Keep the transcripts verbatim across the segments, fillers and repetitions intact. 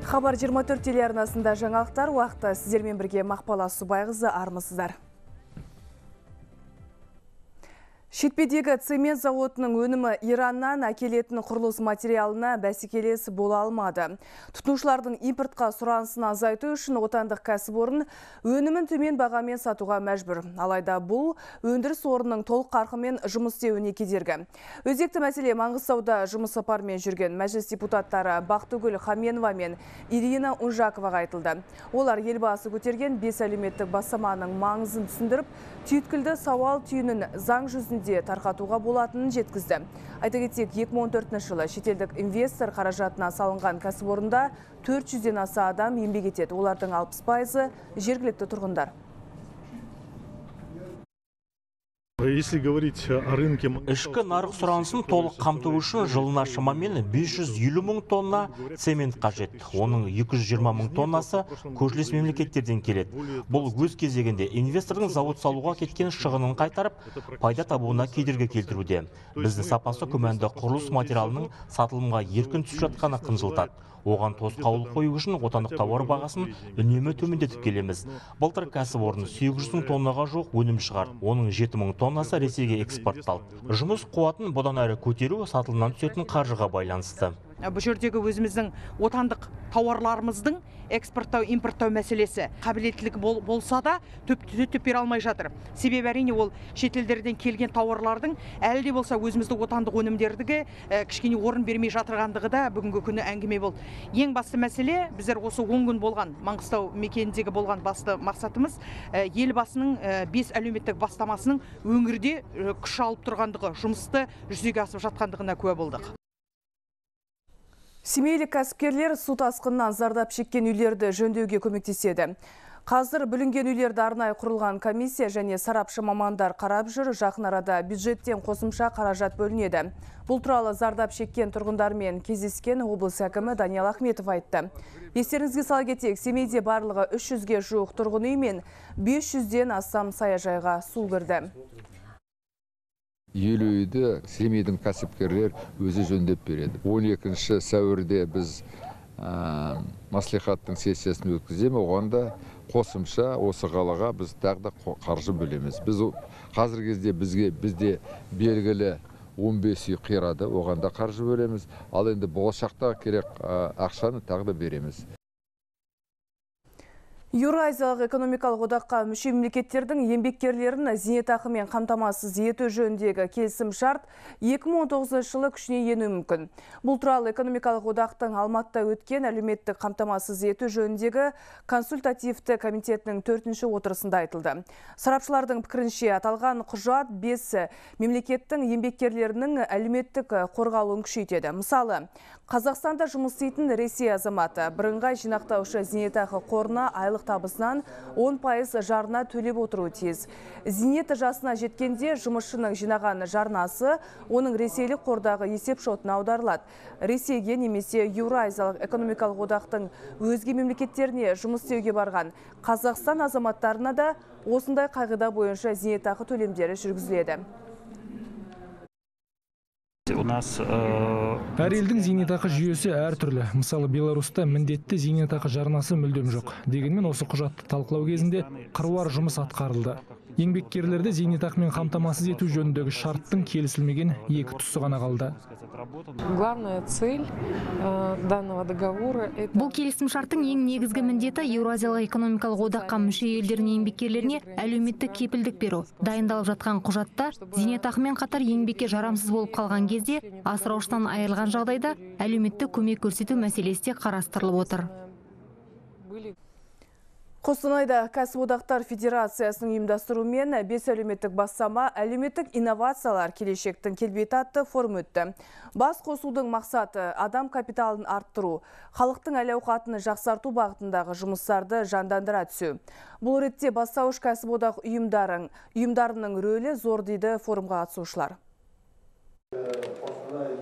Хабар жиырма төрт телеарнасында жаңалықтар уақыты сіздермен бірге Мақпал Асубайқызы, армысыздар. Шетпедегі цемент зауытының өнімі Ираннан әкелетін құрылыс материалына бәсекелес бола алмады. Тұтынушылардың импортқа сұранысын азайту үшін отандық кәсіпорын өнімін төмен бағамен сатуға мәжбүр. Алайда бұл өндіріс орнының толық қарқынмен жұмыс істеуіне кедергі. Өзекті мәселе Маңғыстауда жұмыс сапарымен жүрген мәжіліс депутаттары Бақтыгүл Хаменова мен Ирина Унжаковаға айтылды. Олар елбасы көтерген бес әлеуметтік бастаманың маңызын түсіндіріп, түйткілді сауал түйінін заң жүзінде тарқатуға болатынын жеткізді. Айта кетсек, екі мың он төртінші жылы шетелдік инвестор қаражатына салынған кәсіпорында төрт жүзден аса адам еңбек етеді. Олардың алпыс пайызы жергілікті тұрғындар. Если говорить о рынке... Ішкі нарық сұранысын толық қамту үшін жылына шамамен бес жүз елу мың тонна цемент қажет. Оның екі жүз жиырма мың тоннасы көршілес мемлекеттерден келеді. Бұл өз кезегінде инвестордың зауыт салуға кеткен шығынын қайтарып, пайда табуына кедергі келтіруде. Біздің сапасы күмәнді құрылыс материалының сатылымға еркін түсіп жатқаны қынжылтады. Оған тосқауыл қою үшін отандық тауар бағасын үнемі төмендетіп келеміз. Былтыр кәсіпорын сегіз жүз мың тоннаға жуық өнім шығарды. Оның жеті мың тоннасы Ресейге экспортталды. Жұмыс қуатын бұдан әрі көтеру сатылымнан түсетін қаржыға байланысты. Бұл жердегі өзіміздің отандық тауарларымыздың экспорттау, импорттау мәселесі қабілеттілік бол, болса да төп бере алмай жатыр. Себебі әрине ол шетелдерден келген тауарлардың әлі де болса өзіміздің отандық өнімдердігі кішкене орын бермей жатырғандығы да бүгінгі күні әңгіме болды. Ең басты мәселе, біздер осы он күн болған Маңғыстау мекеніндегі болған басты мақсатымыз елбасының бес әлеуметтік бастамасының өңірде күш алып тұрғандығы, жұмысты жүзеге асып жатқандығына куә болдық. Семейлік кәсіпкерлер су тасқынынан зардап шеккен үйлерді жөндеуге көмектеседі. Қазір бүлінген үйлерді арнайы құрылған комиссия және сарапшы мамандар қарап жүр, жақын арада бюджеттен қосымша қаражат бөлінеді. Бұл туралы зардап шеккен тұрғындармен кездескен облыс әкімі Даниал Ахметов айтты. Естеріңізге сала кетейік, Семейде барлығы үш жүзге жуық тұрғын үй мен бес жүзден астам саяжайға су кірді. Елу үйді Семейдің кәсіпкерлер өзі жөндеп береді. он екінші сәуірде біз ә, маслихаттың сессиясын өткіземіз, оғанда қосымша осы қалаға біз тағы да қаржы бөлеміз. Біз қазіргі кезде бізге бізде белгілі он бес үй қирады, оғанда қаржы бөлеміз. Ал енді болашақта керек ә, ақшаны тағы да береміз. Еуразиялық экономикалық одаққа мүше мемлекеттердің еңбеккерлерін зейнетақымен қамтамасыз ету жөніндегі келісім шарт екі мың он тоғызыншы жылы күшіне енуі мүмкін. Бұл туралы экономикалық одақтың Алматыда өткен әлеуметтік қамтамасыз ету жөніндегі консультативті комитетінің төртінші отырысында айтылды. Сарапшылардың пікірінше аталған құжат бес мемлекеттің еңбеккерлерінің әлеуметтік қорғалуын күшейтеді. Мысалы, Қазақстанда жұмыс істейтін Ресей азаматы бірыңғай жинақтаушы зейнетақы қорына айлық табысынан он пайыз жарна төлеп отыруы тиіс. Зейнет жасына жеткенде жұмысшының жинаған жарнасы оның ресейлік қордағы есеп шотына аударылады. Ресейге немесе Еуразиялық экономикалық одақтың өзге мемлекеттеріне жұмыс істеуге барған Қазақстан азаматтарына да осындай қағида бойынша зейнетақы төлемдері жүргізіледі. Әр елдің зейнетақы жүйесі әртүрлі. Мысалы, Беларусьта міндетті зейнетақы жарнасы мүлдем жоқ. Дегенмен осы құжатты талқылау кезінде қыруар жұмыс атқарылды. Еңбеккерлерді зейнетақымен қамтамасыз ету жөніндегі шарттың келісілмеген екі тұсы ғана қалды. Бұл келісім шарттың ең негізгі міндеті Еуразиялық экономикалық одаққа мүше елдердің еңбеккерлеріне әлеуметтік кепілдік беру. Дайындалып жатқан құжатта зейнетақымен қатар еңбекке жарамсыз болып қалған кезде асыраушысынан айырылған жағдайда әлеуметтік көмек көрсету мәселесі де қарастырылып отыр. Қостанайда кәсіподақтар федерациясының ұйымдастыруымен бес әлеуметтік бастама әлеуметтік инновациялар келешектің келбеті атты форум өтті. Бас қосудың мақсаты адам капиталын арттыру, халықтың әл-ауқатын жақсарту бағытындағы жұмыстарды жандандыра түсу. Бұл ретте бастауыш кәсіподақ ұйымдарының рөлі зор дейді форумға қатысушылар.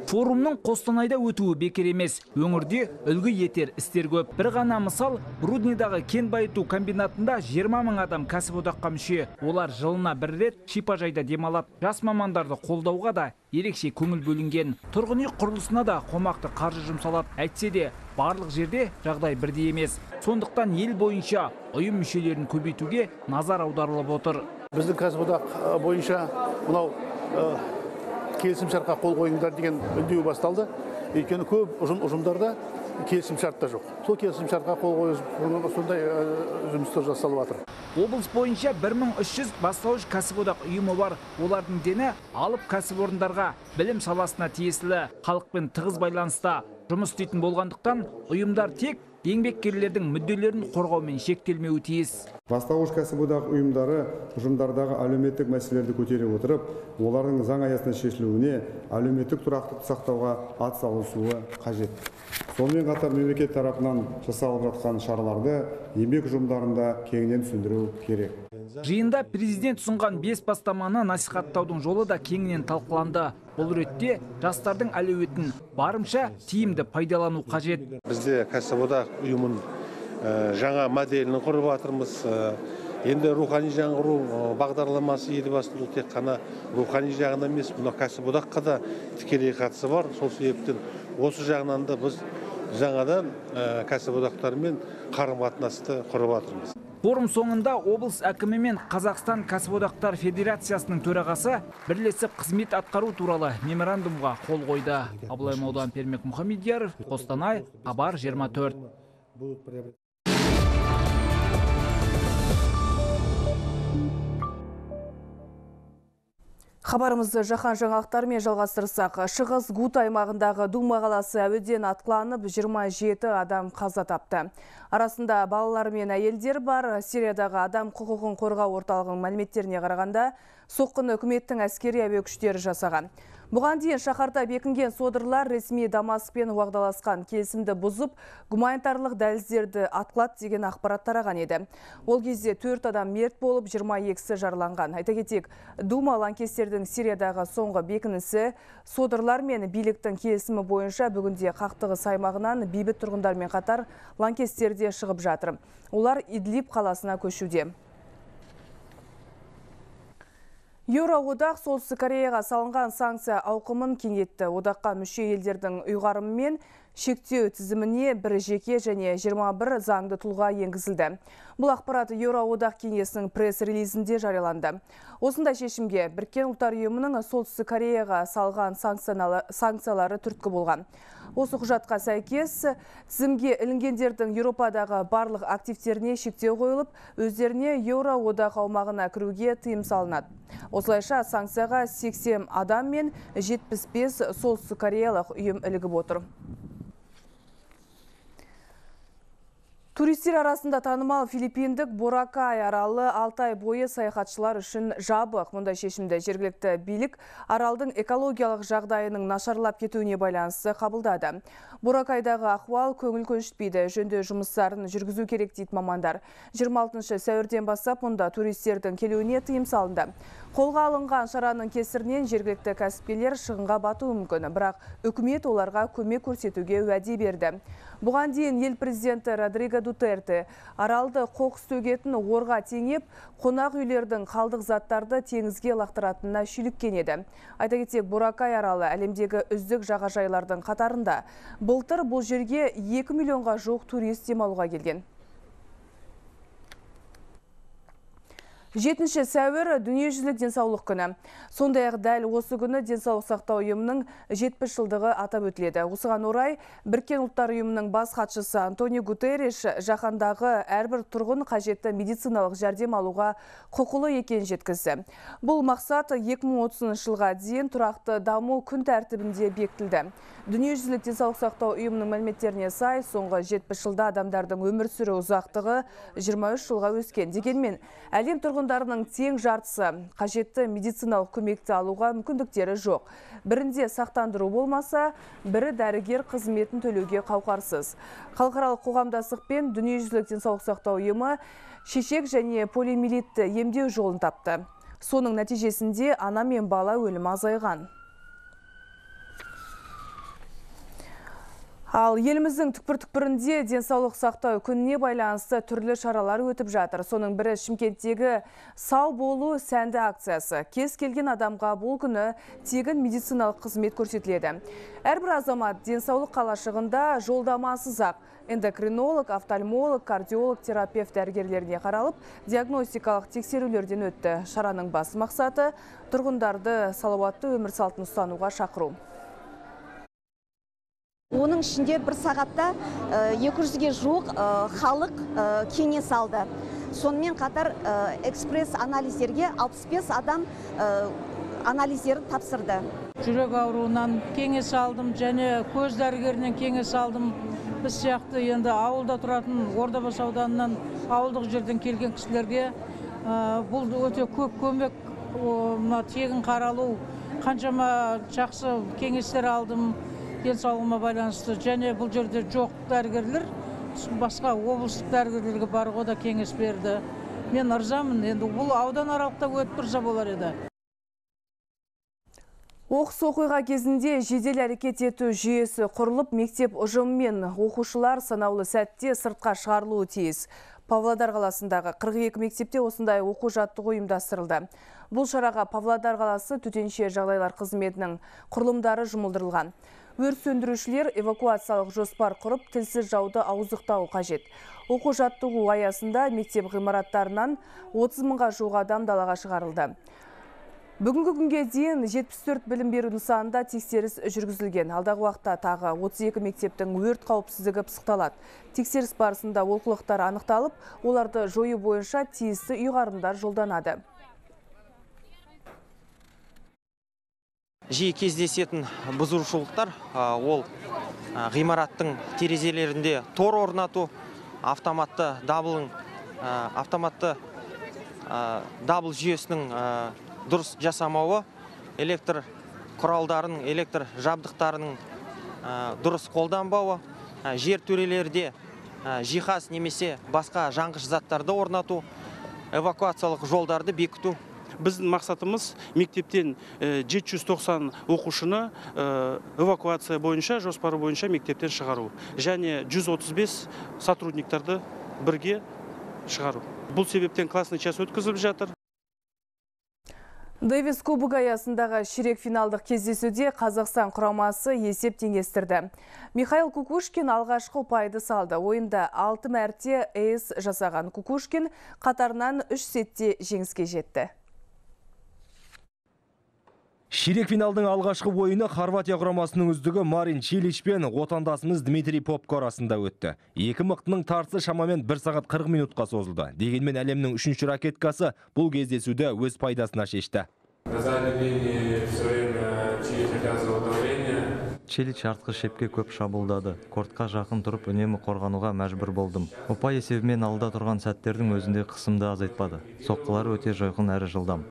Форумның Қостанайда өтуі бекер емес. Өңірде үлгі етер істер көп. Бір ғана мысал, Рудныйдағы кен байыту комбинатында жиырма мың адам кәсіподаққа мүше. Олар жылына бір рет шипажайда демалады. Жас мамандарды қолдауға да ерекше көңіл бөлінген. Тұрғын үй құрылысына да қомақты қаржы жұмсалады. Әйтсе де, барлық жерде жағдай бірдей емес. Сондықтан ел бойынша ұйым мүшелерін көбейтуге назар аударылып отыр. Біздің кәсіподақ бойынша мынау келісімшартқа қол қойыңдар деген үндеу басталды. Өйткені көп ұжымдарда келісімшарт та жоқ. Сол келісімшартқа қол қойып сондай жұмыстар жасалып жатыр. Облыс бойынша бір мың үш жүз бастауыш кәсіподақ ұйымы бар. Олардың дені алып кәсіпорындарға, білім саласына тиесілі, халықпен тығыз байланыста жұмыс істейтін болғандықтан ұйымдар тек еңбеккерлердің мүдделерін қорғаумен шектелмеуі тиіс. Бастауыш кәсіподақ ұйымдары ұжымдардағы әлеуметтік мәселелерді көтере отырып, олардың заң аясында шешілуіне әлеуметтік тұрақтылықты сақтауға атсалысуы қажет. Сонымен қатар мемлекет тарапынан жасалып жатқан шараларды еңбек ұжымдарында кеңінен түсіндіру керек. Жиында президент ұсынған бес бастаманы насихаттаудың жолы да кеңінен талқыланды. Бұл ретте жастардың әлеуетін барынша тиімді пайдалану қажет. Бізде кәсіподақ ұйымын жаңа моделін құрып жатырмыз. Енді рухани жаңғыру бағдарламасы елбасының тек қана рухани жағынан емес, мына кәсіподаққа да тікелей қатысы бар. Сол себептен осы жағынан да біз жаңадан кәсіподақтармен қарым-қатынасты құрып жатырмыз. Форум соңында облыс әкімі мен Қазақстан кәсіподақтар федерациясының төрағасы бірлесіп қызмет атқару туралы меморандумға қол қойды. Абылай Маудан, Пермек Мұхамедияров, Қостанай, Хабар жиырма төрт. Хабарымызды жаһан жаңалықтарымен жалғастырсақ, Шығыс Гут аймағындағы Дума қаласы әуеден атқыланып, жиырма жеті адам қаза тапты. Арасында балалар мен әйелдер бар. Сириядағы адам құқығын қорғау орталығының мәліметтеріне қарағанда, соққыны үкіметтің әскери әуе күштері жасаған. Бұған дейін шаһарда бекінген содырлар ресми Дамаскпен уағдаласқан келісімді бұзып, гуманитарлық дәліздерді атқылады деген ақпарат тараған еді. Ол кезде төрт адам мерт болып, жиырма екісі жараланған. Айта кетейік, Дума лаңкестердің Сириядағы соңғы бекінісі, содырлар мен биліктің келісімі бойынша бүгінде қақтығыс аймағынан бейбіт тұрғындармен қатар лаңкестер де шығып жатыр. Олар Идлиб қаласына көшуде. Еуроодақ Солтүстік Кореяға салынған санкция ауқымын кеңейтті. Одаққа мүше елдердің ұйғарымымен шектеу тізіміне бір жеке және жиырма бір заңды тұлға енгізілді. Бұл ақпарат Еуроодақ кеңесінің пресс-релизінде жарияланды. Осындай шешімге Біріккен ұлттар ұйымының Солтүстік Кореяға салған санкциялары түрткі болған. Осы құжатқа сәйкес тізімге ілінгендердің Еуропадағы барлық активтеріне шектеу қойылып, өздеріне Еуроодақ аумағына кіруге тыйым салынады. Осылайша санкцияға сексен адам мен жетпіс бес Солтүстік Кореялық ұйым ілігіп отыр. Туристер арасында танымал филиппиндік Боракай аралы алты ай бойы саяхатшылар үшін жабық. Мұндай шешімді жергілікті билік аралдың экологиялық жағдайының нашарлап кетуіне байланысты қабылдады. Боракайдағы ахуал көңіл көншітпейді. Жөндеу жұмыстарын жүргізу керек дейді мамандар. жиырма алтыншы сәуірден бастап мұнда туристердің келуіне тыйым салынды. Қолға алынған шараның кесірінен жергілікті кәсіпкерлер шығынға батуы мүмкін, бірақ үкімет оларға көмек көрсетуге уәде берді. Бұған дейін ел президенті Родриго Дутерте аралды қоқыс төгетін орға теңеп, қонақ үйлердің қалдық заттарды теңізге лақтыратынына шүйліккен еді. Айта кетсек, Боракай аралы әлемдегі үздік жағажайлардың қатарында. Былтыр бұл жерге екі миллионға жуық турист демалуға келген. жетінші сәуір дүниежүзілік денсаулық күні. Сондай-ақ дәл осы күні денсаулық сақтау ұйымының жетпіс жылдығы атап өтіледі. Осыған орай Біріккен ұлттар ұйымының бас хатшысы Антонио Гутерриш жаһандағы әрбір тұрғын қажетті медициналық жәрдем алуға құқылы екенін жеткізді. Бұл мақсат екі мың отызыншы жылға дейін тұрақты даму күн тәртібінде бекітілді. Дүниежүзілік денсаулық сақтау ұйымының мәліметтеріне сай, соңғы жетпіс жылда адамдардың өмір сүру ұзақтығы жиырма үш жылға өскен. Дегенмен, әлем тұрғындарының тең жартысы қажетті медициналық көмекті алуға мүмкіндіктері жоқ. Бірінде сақтандыру болмаса, бірі дәрігер қызметін төлеуге қауқарсыз. Халықаралық қоғамдастық пен Дүниежүзілік денсаулық сақтау ұйымы шешек және полиомиелитті емдеу жолын тапты. Соның нәтижесінде ана мен бала өлімі азайған. Ал еліміздің түкпір-түкпірінде денсаулық сақтау күніне байланысты түрлі шаралар өтіп жатыр. Соның бірі Шымкенттегі сау болу сәнді акциясы. Кез келген адамға бұл күні тегін медициналық қызмет көрсетіледі. Әрбір азамат денсаулық қалашығында жолдамасыз ақ эндокринолог, офтальмолог, кардиолог, терапевт дәрігерлеріне қаралып, диагностикалық тексерулерден өтті. Шараның басты мақсаты тұрғындарды салауатты өмір салтын ұстануға шақыру. Оның ішінде бір сағатта екі жүзге жуық халық кеңес алды. Сонымен қатар экспресс анализдерге алпыс бес адам анализдерін тапсырды. Жүрек ауруынан кеңес алдым, және көз дәрігерінен кеңес алдым. Біз сияқты енді ауылда тұратын Ордабасы ауданынан ауылдық жерден келген кісілерге бұл өте көп көмек, тегін қаралу, қаншама жақсы кеңестер алдым. Денсаулығыма байланысты, және бұл жерде жоқ дәрігерлер, басқа облыстық дәрігерлерге баруға да кеңес берді. Мен ырзамын, енді бұл аудан аралықта өтіп тұрса болар еді. Оқыс оқиға кезінде жедел әрекет ету жүйесі құрылып, мектеп ұжымымен оқушылар санаулы сәтте сыртқа шығарылуы тиіс. Павлодар қаласындағы қырық екі мектепте осындай оқу жаттығу ұйымдастырылды. Бұл шараға Павлодар қаласы төтенше жағдайлар қызметінің құрылымдары жұмылдырылған. Өрт сөндірушілер эвакуациялық жоспар құрып, тілсіз жауды ауыздықтауы қажет. Оқу жаттығу аясында мектеп ғимараттарынан отыз мыңға жуық адам далаға шығарылды. Бүгінгі күнге дейін жетпіс төрт білім беру нысанында тексеріс жүргізілген. Алдағы уақытта тағы отыз екі мектептің өрт қауіпсіздігі пысықталады. Тексеріс барысында олқылықтар анықталып, оларды жою бойынша тиісті ұйғарымдар жолданады. Жиі кездесетін бұзушылықтар ол ғимараттың терезелерінде тор орнату, автоматты дабылың автоматты дабыл жүйесінің дұрыс жасамауы, электр құралдарының, электр жабдықтарының дұрыс қолданбауы, жер төрелерде жиһаз немесе басқа жанғыш заттарды орнату, эвакуациялық жолдарды бекіту. Біздің мақсатымыз мектептен жеті жүз тоқсан оқушыны эвакуация бойынша, жоспары бойынша мектептен шығару. Және жүз отыз бес сотрудниктарды бірге шығару. Бұл себептен классный час өткізіліп жатыр. Дэвис кубогы аясындағы ширек финалдық кездесуде Қазақстан құрамасы есеп теңестірді. Михаил Кукушкин алғашқы ұпайды салды. Ойында алты мәрте эйс жасаған Кукушкин қатарынан үш сетте жеңіске жетті. Ширек финалдың алғашқы ойыны Хорватия құрамасының үздігі Марин Чилич пен отандасымыз Дмитрий Попко арасында өтті. Екі мықтының тартысы шамамен бір сағат қырық минутқа созылды. Дегенмен әлемнің үшінші ракеткасы бұл кездесуді өз пайдасына шешті. Чилич артқы шепке көп шабуылдады. Кортқа жақын тұрып үнемі қорғануға мәжбүр болдым. Ұпай есебімен алда тұрған сәттердің өзінде қысымды азайтпады. Соққылары өте жойқын әрі жылдам.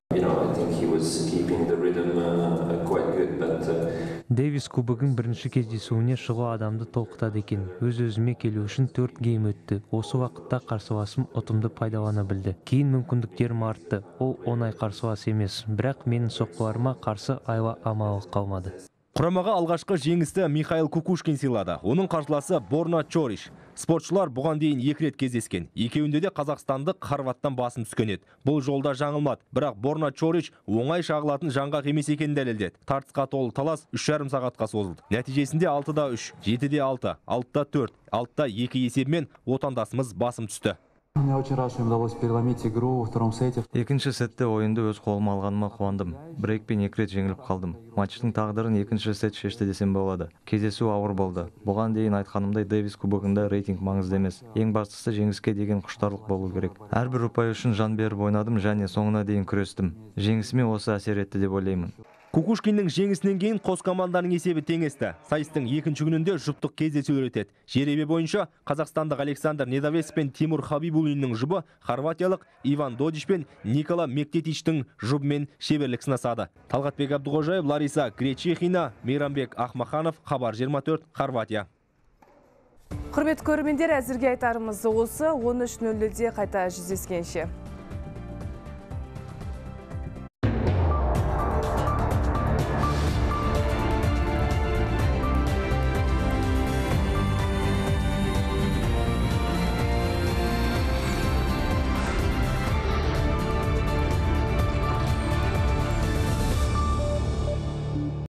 Дэвис кубогын бірінші кездесуіне шығу адамды толқытады екен. Өз-өзіме келу үшін төрт гейм өтті. Осы уақытта қарсыласым ұтымды пайдалана білді. Кейін мүмкіндіктерім артты. Ол оңай қарсылас емес, бірақ менің соққыларыма қарсы айла амалы қалмады. Құрамаға алғашқы жеңісті Михаил Кукушкин сыйлады. Оның қарсыласы Борна Чориш. Спортшылар бұған дейін екі рет кездескен. Екеуінде де қазақстандық Хорваттан басым түскен еді. Бұл жолда жаңылмады. Бірақ Борна Чориш оңай шағылатын жаңғақ емес екенін дәлелдеді. Тартысқа толы талас үш жарым сағатқа созылды. Нәтижесінде алтыда үш, жетіде алты, алтыда төрт, алтыда екі есебімен отандасымыз басым түсті. Мне очень рад, что им удалось переломить игру во втором сете. Екінші сетте ойынды өз қолыма алғаныма қуандым. Брейкпен екі рет жеңіліп қалдым. Матчтың тағдырын екінші сет шешті десем болады. Кездесу ауыр болды. Бұған дейін айтқанымдай Дэвис кубогында рейтинг маңызды емес. Ең бастысы жеңіске деген құштарлық болу керек. Әрбір ұпай үшін жан беріп ойнадым және соңына дейін күрестім. Жеңісіме осы әсер етті деп ойлаймын. Кукушкиннің жеңісінен кейін қос команданың есебі теңесті. Сайыстың екінші күнінде жұптық кездесулер өтеді. Жеребе бойынша қазақстандық Александр Недовес пен Тимур Хабибуллиннің жұбы хорватиялық Иван Додич пен Никола Мектетичтің жұбымен шеберлік сынасады. Талғатбек Абдуғожаев, Лариса Гречихина, Мейрамбек Ахмаханов, Хабар жиырма төрт, Хорватия. Құрметті көрермендер, әзірге айтарымыз осы. он үш нөл нөлде қайта жүздескенше.